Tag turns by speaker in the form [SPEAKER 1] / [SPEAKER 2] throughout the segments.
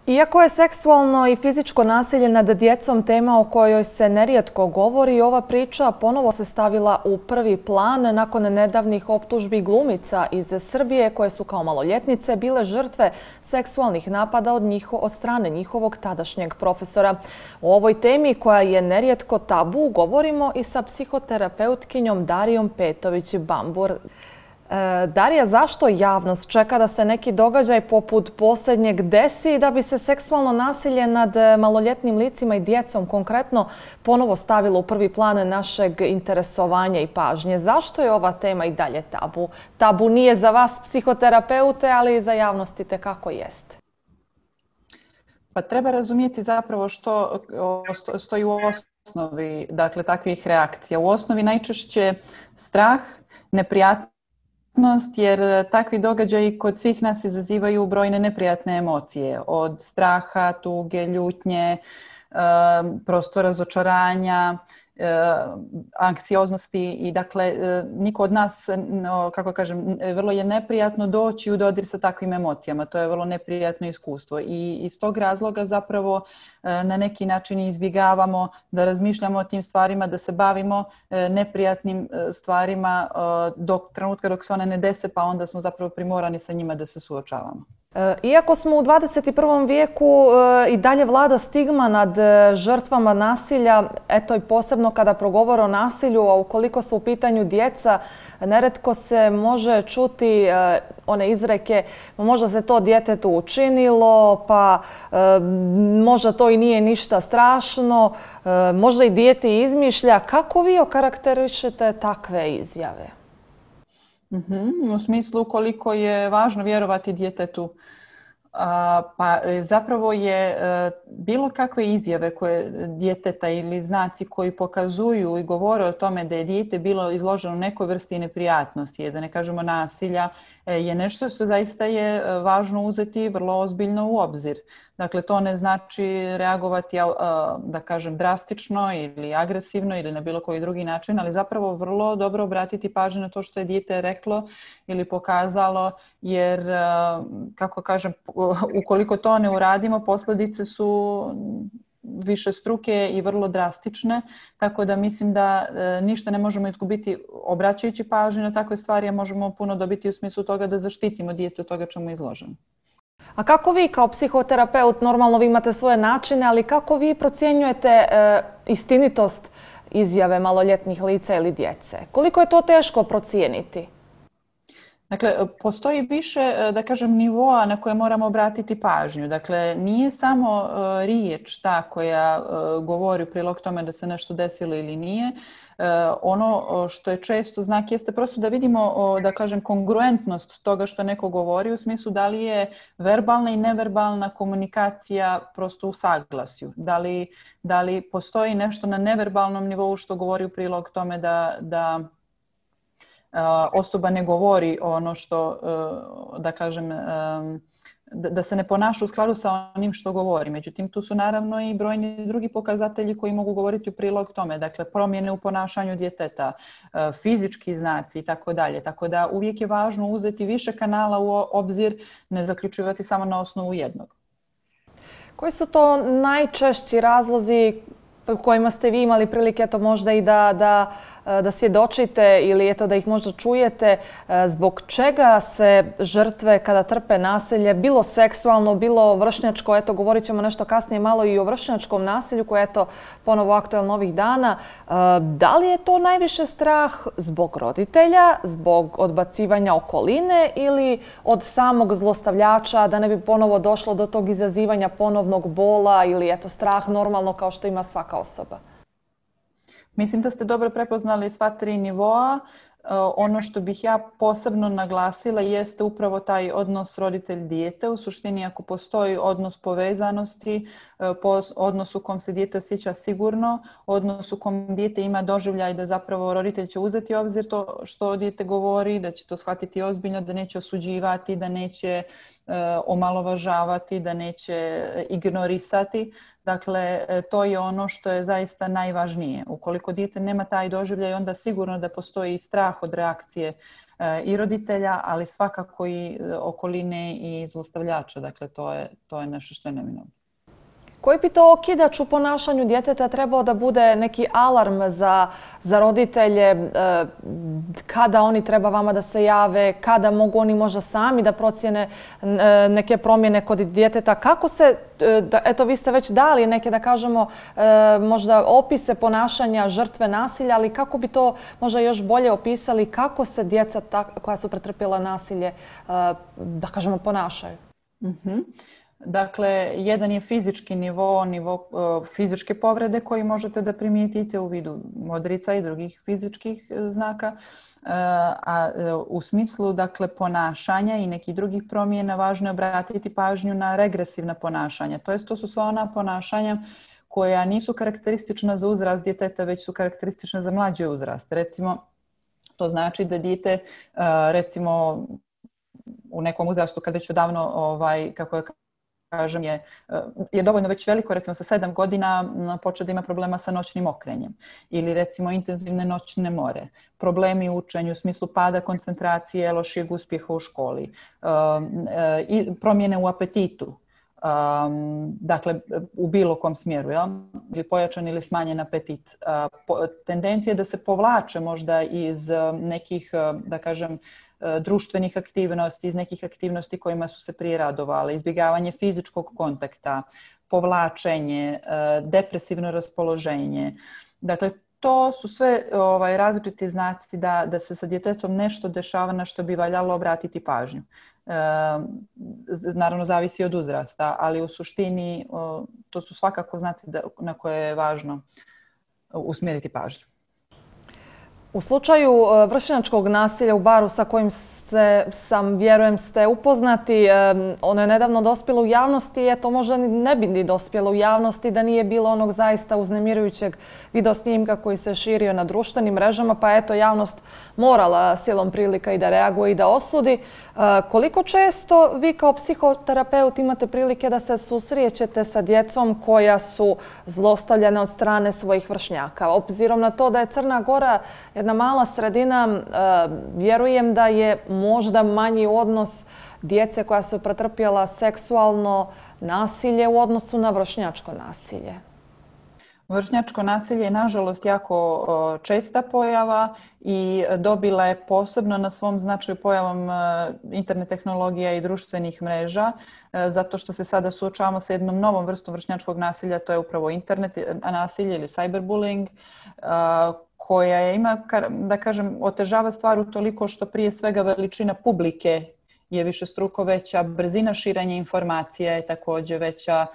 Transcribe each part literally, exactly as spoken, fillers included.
[SPEAKER 1] Iako je seksualno i fizičko nasilje nad djecom tema o kojoj se nerijetko govori, ova priča ponovo se stavila u prvi plan nakon nedavnih optužbi glumica iz Srbije koje su kao maloljetnice bile žrtve seksualnih napada od, njiho, od strane njihovog tadašnjeg profesora. O ovoj temi koja je nerijetko tabu govorimo i sa psihoterapeutkinjom Darijom Petović-Bambur. Darija, zašto javnost čeka da se neki događaj poput posljednjeg desi da bi se seksualno nasilje nad maloljetnim licima i djecom konkretno ponovo stavilo u prvi plan našeg interesovanja i pažnje? Zašto je ova tema i dalje tabu? Tabu nije za vas psihoterapeute, ali i za javnost itekako jeste.
[SPEAKER 2] Pa treba razumjeti zapravo što stoji u osnovi, dakle, takvih reakcija. U osnovi najčešće strah, neprijatnost, jer takvi događaji kod svih nas izazivaju brojne neprijatne emocije, od straha, tuge, ljutnje, prosto razočaranja, anksioznosti i dakle niko od nas, kako kažem, vrlo je neprijatno doći u dodir sa takvim emocijama. To je vrlo neprijatno iskustvo i iz tog razloga zapravo na neki način izbjegavamo da razmišljamo o tim stvarima, da se bavimo neprijatnim stvarima dok trenutka dok se one ne dese, pa onda smo zapravo primorani sa njima da se suočavamo.
[SPEAKER 1] Iako smo u dvadeset prvom vijeku i dalje vlada stigma nad žrtvama nasilja, eto i posebno kada progovore o nasilju, a ukoliko su u pitanju djeca, neretko se može čuti one izreke, možda se to djetetu učinilo, pa možda to i nije ništa strašno, možda i dijete izmišlja. Kako vi okarakterišete takve izjave?
[SPEAKER 2] Mm-hmm. U smislu koliko je važno vjerovati djetetu. A, pa zapravo je a, bilo kakve izjave koje djeteta ili znaci koji pokazuju i govore o tome da je dijete bilo izloženo nekoj vrsti neprijatnosti, da ne kažemo nasilja, je nešto što zaista je važno uzeti vrlo ozbiljno u obzir. Dakle, to ne znači reagovati, da kažem, drastično ili agresivno ili na bilo koji drugi način, ali zapravo vrlo dobro obratiti pažnju na to što je dijete reklo ili pokazalo, jer, kako kažem, ukoliko to ne uradimo, posljedice su višestruke i vrlo drastične, tako da mislim da ništa ne možemo izgubiti obraćajući pažnju na takve stvari, a možemo puno dobiti u smislu toga da zaštitimo dijete od toga čemu je izloženo.
[SPEAKER 1] A kako vi kao psihoterapeut, normalno vi imate svoje načine, ali kako vi procjenjujete e, istinitost izjave maloljetnih lica ili djece? Koliko je to teško procijeniti?
[SPEAKER 2] Dakle, postoji više, da kažem, nivoa na koje moramo obratiti pažnju. Dakle, nije samo uh, riječ ta koja uh, govori u prilog tome da se nešto desilo ili nije. Uh, ono što je često znak jeste prosto da vidimo, uh, da kažem, kongruentnost toga što neko govori u smislu da li je verbalna i neverbalna komunikacija prosto u saglasju. Da li, da li postoji nešto na neverbalnom nivou što govori u prilog tome da, da osoba ne govori ono što, da kažem, da se ne ponaša u skladu sa onim što govori. Međutim, tu su naravno i brojni drugi pokazatelji koji mogu govoriti u prilog tome. Dakle, promjene u ponašanju djeteta, fizički znaci i tako dalje. Tako da uvijek je važno uzeti više kanala u obzir, ne zaključivati samo na osnovu jednog.
[SPEAKER 1] Koji su to najčešći razlozi kojima ste vi imali prilike to možda i da, da, da svjedočite ili eto da ih možda čujete, zbog čega se žrtve kada trpe nasilje, bilo seksualno, bilo vršnjačko, eto govorit ćemo nešto kasnije malo i o vršnjačkom nasilju koje je eto ponovo aktualno ovih dana, da li je to najviše strah zbog roditelja, zbog odbacivanja okoline ili od samog zlostavljača da ne bi ponovo došlo do tog izazivanja ponovnog bola ili eto strah normalno kao što ima svaka osoba?
[SPEAKER 2] Mislim da ste dobro prepoznali sva tri nivoa. Ono što bih ja posebno naglasila jeste upravo taj odnos roditelj-dijete. U suštini, ako postoji odnos povezanosti, odnos u kom se dijete osjeća sigurno, odnos u kom dijete ima doživljaj da zapravo roditelj će uzeti u obzir to što dijete govori, da će to shvatiti ozbiljno, da neće osuđivati, da neće omalovažavati, da neće ignorisati. Dakle, to je ono što je zaista najvažnije. Ukoliko dijete nema taj doživljaj, onda sigurno da postoji strah od reakcije i roditelja, ali svakako i okoline i zlostavljača. Dakle, to je, to je nešto što je neminovno.
[SPEAKER 1] Koji bi to okidač u ponašanju djeteta trebao da bude neki alarm za, za roditelje, kada oni treba vama da se jave, kada mogu oni možda sami da procjene neke promjene kod djeteta? Kako se, eto vi ste već dali neke, da kažemo, možda opise ponašanja žrtve nasilja, ali kako bi to možda još bolje opisali, kako se djeca koja su pretrpjela nasilje, da kažemo, ponašaju?
[SPEAKER 2] Mm-hmm. Dakle, jedan je fizički nivo, nivo uh, fizičke povrede koji možete da primijetite u vidu modrica i drugih fizičkih znaka, uh, a uh, u smislu dakle, ponašanja i nekih drugih promjena važno je obratiti pažnju na regresivna ponašanja. To jest, to su sva ona ponašanja koja nisu karakteristična za uzrast djeteta, već su karakteristična za mlađi uzrast. Recimo, to znači da dijete, uh, recimo, u nekom uzrastu kad već odavno, ovaj, kako je kažem, je, je dovoljno već veliko, recimo sa sedam godina počeo da ima problema sa noćnim okrenjem ili recimo intenzivne noćne more, problemi u učenju u smislu pada koncentracije, lošijeg uspjeha u školi, i promjene u apetitu. Um, dakle, u bilo kom smjeru, ja? Ili pojačan ili smanjen apetit. Uh, po, tendencije da se povlače možda iz uh, nekih, uh, da kažem, uh, društvenih aktivnosti, iz nekih aktivnosti kojima su se prije radovali, izbjegavanje fizičkog kontakta, povlačenje, uh, depresivno raspoloženje. Dakle, to su sve ovaj, različiti znaci da, da se sa djetetom nešto dešava na što bi valjalo obratiti pažnju. E, naravno, zavisi od uzrasta, ali u suštini o, to su svakako znaci da, na koje je važno usmjeriti pažnju.
[SPEAKER 1] U slučaju vršnjačkog nasilja u baru sa kojim se, sam, vjerujem, ste upoznati, ono je nedavno dospjelo u javnosti i eto možda ne bi ni dospjelo u javnosti da nije bilo onog zaista uznemirujućeg videosnimka koji se širio na društvenim mrežama, pa eto javnost morala silom prilika i da reaguje i da osudi. Koliko često vi kao psihoterapeut imate prilike da se susrećete sa djecom koja su zlostavljana od strane svojih vršnjaka? Obzirom na to da je Crna Gora jedna mala sredina, vjerujem da je možda manji odnos djece koja su pretrpjela seksualno nasilje u odnosu na vršnjačko nasilje.
[SPEAKER 2] Vršnjačko nasilje je nažalost jako česta pojava i dobila je posebno na svom značaju pojavom internet tehnologija i društvenih mreža, zato što se sada suočavamo sa jednom novom vrstom vršnjačkog nasilja, to je upravo internet nasilje ili cyberbullying, koja ima, da kažem, otežava stvar utoliko što prije svega veličina publike je višestruko veća, brzina širenja informacija je također veća,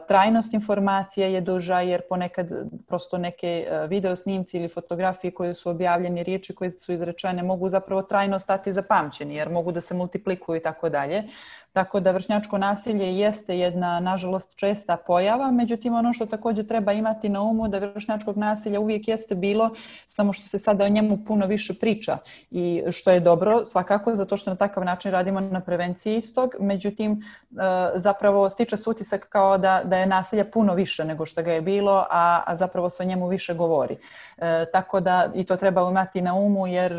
[SPEAKER 2] trajnost informacija je duža jer ponekad prosto neke video snimci ili fotografije koje su objavljene, riječi koje su izrečene mogu zapravo trajno stati zapamćeni jer mogu da se multiplikuju i tako dalje. Tako da vršnjačko nasilje jeste jedna, nažalost, česta pojava, međutim ono što također treba imati na umu da vršnjačkog nasilja uvijek jeste bilo, samo što se sada o njemu puno više priča i što je dobro svakako zato što na takav način radimo na prevenciji istog, međutim zapravo stiče se utisak kao da, da je nasilja puno više nego što ga je bilo, a, a zapravo se o njemu više govori. E, tako da i to treba imati na umu jer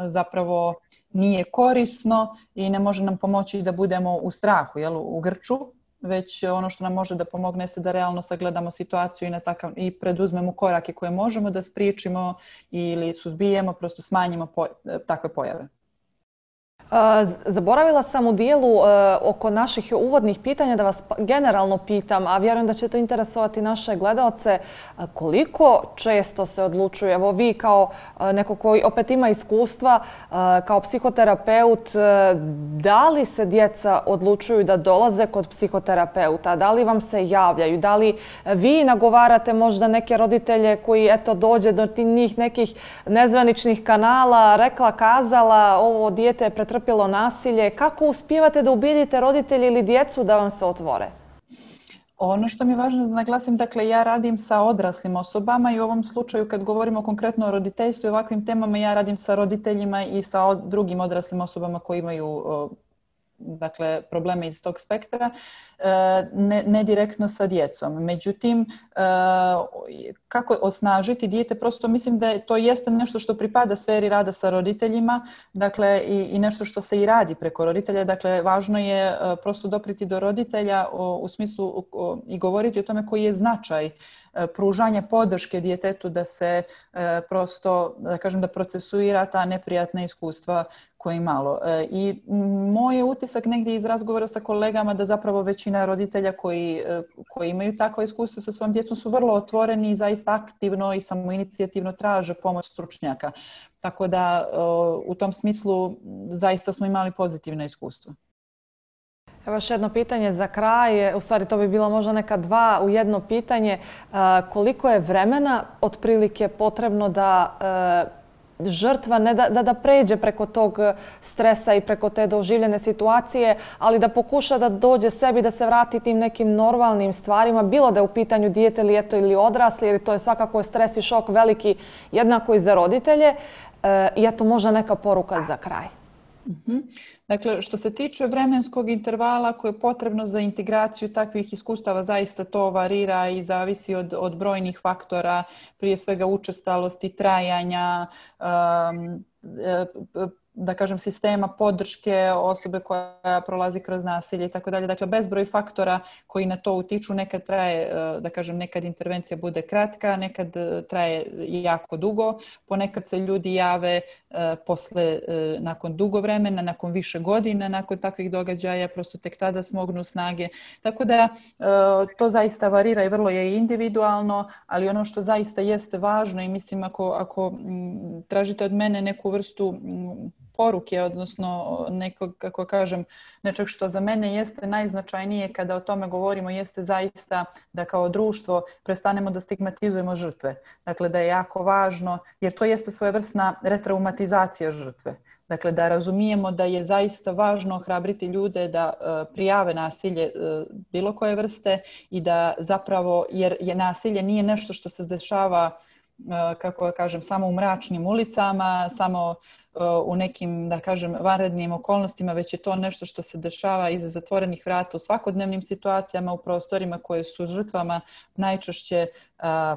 [SPEAKER 2] zapravo nije korisno i ne može nam pomoći da budemo u strahu, jel, u grču, već ono što nam može da pomogne se da realno sagledamo situaciju i, na takav, i preduzmemo korake koje možemo da spriječimo ili suzbijemo, prosto smanjimo po, takve pojave.
[SPEAKER 1] Zaboravila sam u dijelu oko naših uvodnih pitanja da vas generalno pitam, a vjerujem da će to interesovati naše gledaoce, koliko često se odlučuje, evo vi kao neko koji opet ima iskustva, kao psihoterapeut, da li se djeca odlučuju da dolaze kod psihoterapeuta, da li vam se javljaju, da li vi nagovarate možda neke roditelje koji eto dođe do njih nekih nezvaničnih kanala, rekla, kazala, ovo dijete je pretrpjelo pretrpjelo nasilje. Kako uspijevate da ubijedite roditelji ili djecu da vam se otvore?
[SPEAKER 2] Ono što mi je važno da naglasim, dakle ja radim sa odraslim osobama i u ovom slučaju kad govorimo konkretno o roditeljstvu i ovakvim temama, ja radim sa roditeljima i sa drugim odraslim osobama koji imaju dakle, probleme iz tog spektra, ne, ne direktno sa djecom. Međutim, kako osnažiti dijete, prosto mislim da je, to jeste nešto što pripada sferi rada sa roditeljima, dakle, i, i nešto što se i radi preko roditelja. Dakle, važno je prosto dopriti do roditelja u, u smislu u, i govoriti o tome koji je značaj pružanja podrške djetetu da se e, prosto, da kažem, da procesuira ta neprijatna iskustva koje imalo. E, I moj je utisak negdje iz razgovora sa kolegama da zapravo većina roditelja koji, koji imaju takva iskustva sa svojom djecom su vrlo otvoreni i zaista aktivno i samoinicijativno traže pomoć stručnjaka. Tako da e, u tom smislu zaista smo imali pozitivna iskustva.
[SPEAKER 1] Evo još jedno pitanje za kraj, u stvari to bi bilo možda neka dva u jedno pitanje. Koliko je vremena otprilike potrebno da žrtva ne da, da, da pređe preko tog stresa i preko te doživljene situacije, ali da pokuša da dođe sebi, da se vrati tim nekim normalnim stvarima, bilo da je u pitanju dijete ili, eto, ili odrasli, jer to je svakako stres i šok veliki jednako i za roditelje. I eto možda neka poruka za kraj.
[SPEAKER 2] Mm-hmm. Dakle, što se tiče vremenskog intervala koje je potrebno za integraciju takvih iskustava, zaista to varira i zavisi od, od brojnih faktora, prije svega učestalosti, trajanja, um, da kažem, sistema podrške osobe koja prolazi kroz nasilje i tako dalje. Dakle, bezbroj faktora koji na to utiču. Nekad traje, da kažem, nekad intervencija bude kratka, nekad traje jako dugo. Ponekad se ljudi jave posle, nakon dugo vremena, nakon više godina, nakon takvih događaja, prosto tek tada smognu snage. Tako da to zaista varira i vrlo je individualno, ali ono što zaista jeste važno i mislim ako, ako tražite od mene neku vrstu poruke, odnosno nekog, kako kažem, nečeg što za mene jeste najznačajnije kada o tome govorimo, jeste zaista da kao društvo prestanemo da stigmatizujemo žrtve. Dakle, da je jako važno, jer to jeste svojevrsna retraumatizacija žrtve. Dakle, da razumijemo da je zaista važno ohrabriti ljude da uh, prijave nasilje uh, bilo koje vrste i da zapravo, jer je nasilje nije nešto što se dešava kako kažem, samo u mračnim ulicama, samo u nekim, da kažem, vanrednim okolnostima, već je to nešto što se dešava iza zatvorenih vrata u svakodnevnim situacijama, u prostorima koje su žrtvama najčešće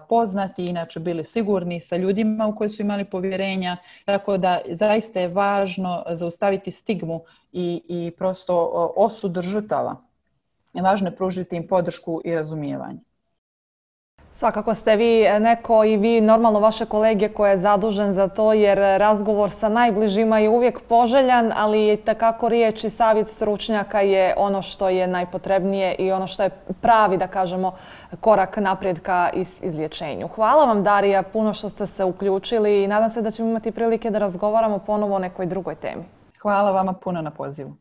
[SPEAKER 2] poznati, inače bili sigurni, sa ljudima u koje su imali povjerenja. Tako da zaista je važno zaustaviti stigmu i, i prosto osud žrtava. Važno je pružiti im podršku i razumijevanje.
[SPEAKER 1] Svakako ste vi neko i vi normalno vaše kolege koje je zadužen za to, jer razgovor sa najbližima je uvijek poželjan, ali takako riječ i savjet stručnjaka je ono što je najpotrebnije i ono što je pravi, da kažemo, korak naprijed ka izlječenju. Hvala vam, Darija, puno što ste se uključili i nadam se da ćemo imati prilike da razgovaramo ponovo o nekoj drugoj temi.
[SPEAKER 2] Hvala vama puno na pozivu.